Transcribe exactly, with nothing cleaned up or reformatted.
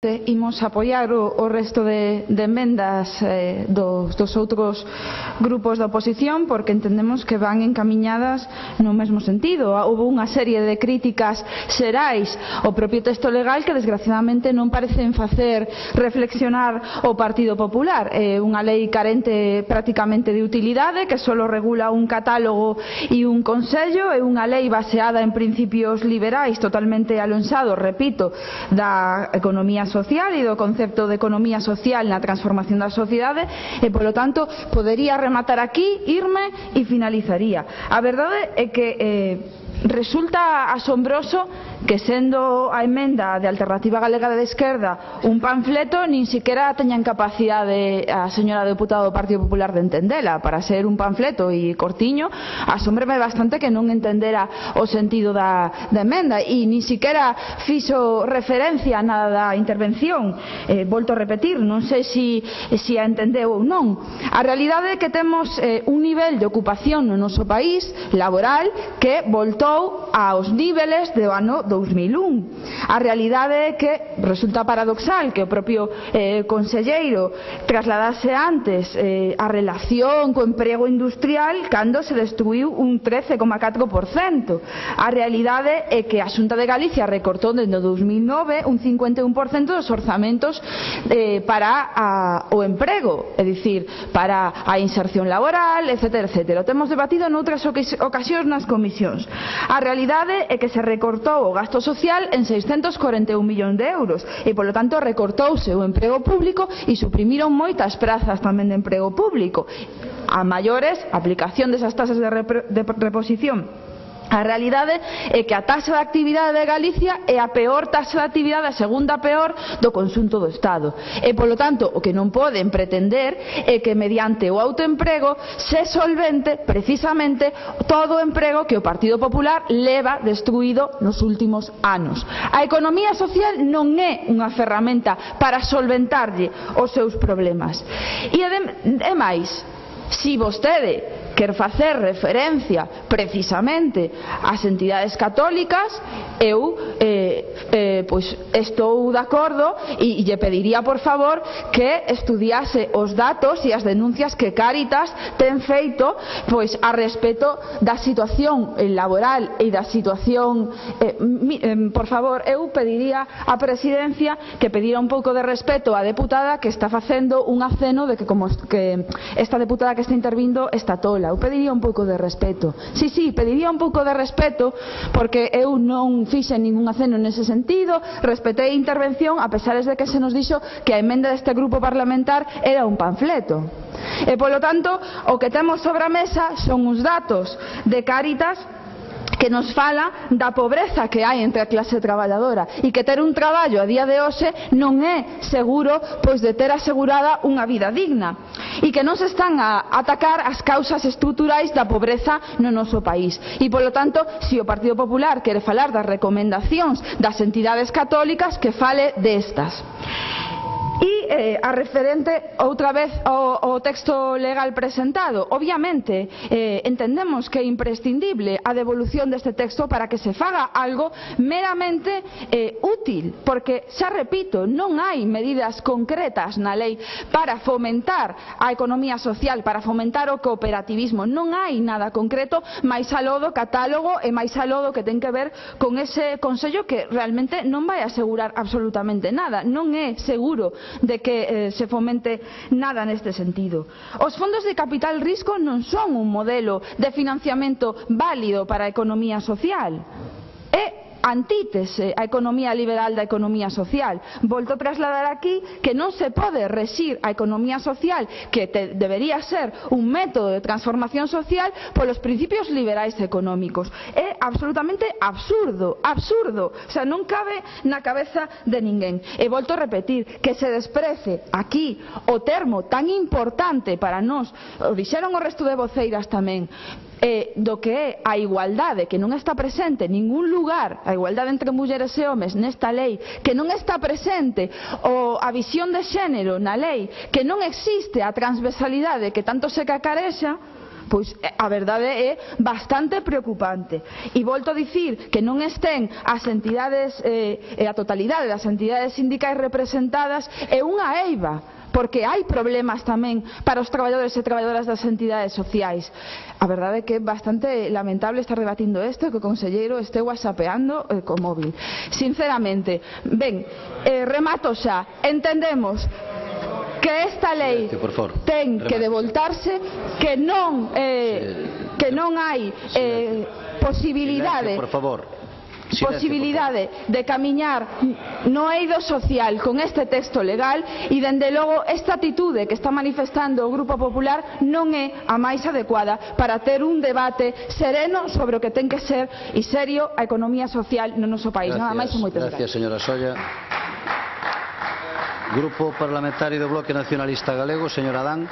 Imos apoiar o, o resto de, de emendas eh, dos, dos outros grupos da oposición porque entendemos que van encamiñadas no mesmo sentido. Houve unha serie de críticas xerais ao propio texto legal que desgraciadamente non parecen facer reflexionar o Partido Popular. É unha lei carente prácticamente de utilidade que só regula un catálogo e un consello, é unha lei baseada en principios liberais totalmente alonsados, repito, da economía social e do concepto de economía social na transformación da sociedade e, polo tanto, podería rematar aquí, irme e finalizaría. A verdade é que eh, resulta asombroso que, sendo a emenda de Alternativa Galega de Esquerda un panfleto, nin siquiera teñan capacidade a señora deputada do Partido Popular de entendela. Para ser un panfleto e cortiño, asómbreme bastante que non entendera o sentido da, da emenda e nin siquiera fixo referencia a nada da intervención. Eh, volto a repetir, non sei se si, si a entendeu ou non. A realidade é que temos eh, un nivel de ocupación no noso país laboral que voltou aos niveles do ano dous mil un. A realidade é que resulta paradoxal que o propio eh, conselleiro trasladase antes eh, a relación co emprego industrial cando se destruiu un trece coma catro por cento. A realidade é que a Xunta de Galicia recortou dende o dous mil nove un cincuenta e un por cento dos orzamentos eh, para a, o emprego, é dicir, para a inserción laboral, etcétera, etcétera. O temos debatido noutras ocasións nas comisións. A realidade é que se recortou o gasto social en seiscentos corenta e un millóns de euros e, polo tanto, recortouse o emprego público e suprimiron moitas prazas tamén de emprego público. A maiores, aplicación desas tasas de, de reposición. A realidade é que a taxa de actividade de Galicia é a peor taxa de actividade, a segunda peor do conxunto do Estado. E, polo tanto, o que non poden pretender é que mediante o autoemprego se solvente precisamente todo o emprego que o Partido Popular leva destruído nos últimos anos. A economía social non é unha ferramenta para solventarlle os seus problemas. E, é máis, se vostede quer facer referencia precisamente ás entidades católicas, eu eh, eh, pois estou de acordo e, e lle pediría por favor que estudiase os datos e as denuncias que Cáritas ten feito pois a respecto da situación laboral e da situación eh, mi, eh, por favor, eu pediría á presidencia que pedira un pouco de respeto á deputada que está facendo un aceno de que como que esta deputada que está intervindo está tola. Eu pediría un pouco de respeto. Sí, sí, pediría un pouco de respeto porque eu non fixen ningún aceno nese sentido, respetei a intervención a pesar de que se nos dixo que a emenda deste grupo parlamentar era un panfleto. E, polo tanto, o que temos sobre a mesa son uns datos de Cáritas que nos fala da pobreza que hai entre a clase traballadora e que ter un traballo a día de hoxe non é seguro pois de ter asegurada unha vida digna e que non se están a atacar as causas estruturais da pobreza no noso país e, polo tanto, se o Partido Popular quere falar das recomendacións das entidades católicas, que fale destas. E eh, a referente outra vez ao, ao texto legal presentado, obviamente eh, entendemos que é imprescindible a devolución deste texto para que se faga algo meramente eh, útil, porque, xa repito, non hai medidas concretas na lei para fomentar a economía social, para fomentar o cooperativismo, non hai nada concreto máis aló do catálogo e máis aló do que ten que ver con ese consello que realmente non vai asegurar absolutamente nada, non é seguro de que eh, se fomente nada neste sentido. Os fondos de capital risco non son un modelo de financiamento válido para a economía social. É antítese a economía liberal da economía social. Volto a trasladar aquí que non se pode rexir a economía social, que te, debería ser un método de transformación social, polos principios liberais económicos. É absolutamente absurdo, absurdo. O sea, non cabe na cabeza de ninguén. E volto a repetir que se desprece aquí o termo tan importante para nós, o dixeron o resto de voceiras tamén, eh, do que é a igualdade, que non está presente en ningún lugar, a igualdade entre mulleres e homes nesta lei, que non está presente o, a visión de xénero na lei, que non existe a transversalidade que tanto se cacarexa, Pois a verdade é bastante preocupante. E volto a dicir que non estén as entidades, eh, a totalidade das entidades sindicais representadas é unha eiva, porque hai problemas tamén para os traballadores e traballadoras das entidades sociais. A verdade é que é bastante lamentable estar debatindo isto e que o conselleiro este whatsappeando eh, co móvil. Sinceramente, ben, eh, remato xa, entendemos que esta lei ten que devoltarse, que non eh, que non hai eh, posibilidade por favor posibilidade de camiñar no eido social con este texto legal, e dende logo esta atitude que está manifestando o Grupo Popular non é a máis adecuada para ter un debate sereno sobre o que ten que ser e serio a economía social no noso país. Nada máis e moitas gracias, señora Solla. Grupo Parlamentario do Bloque Nacionalista Galego, señor Adán.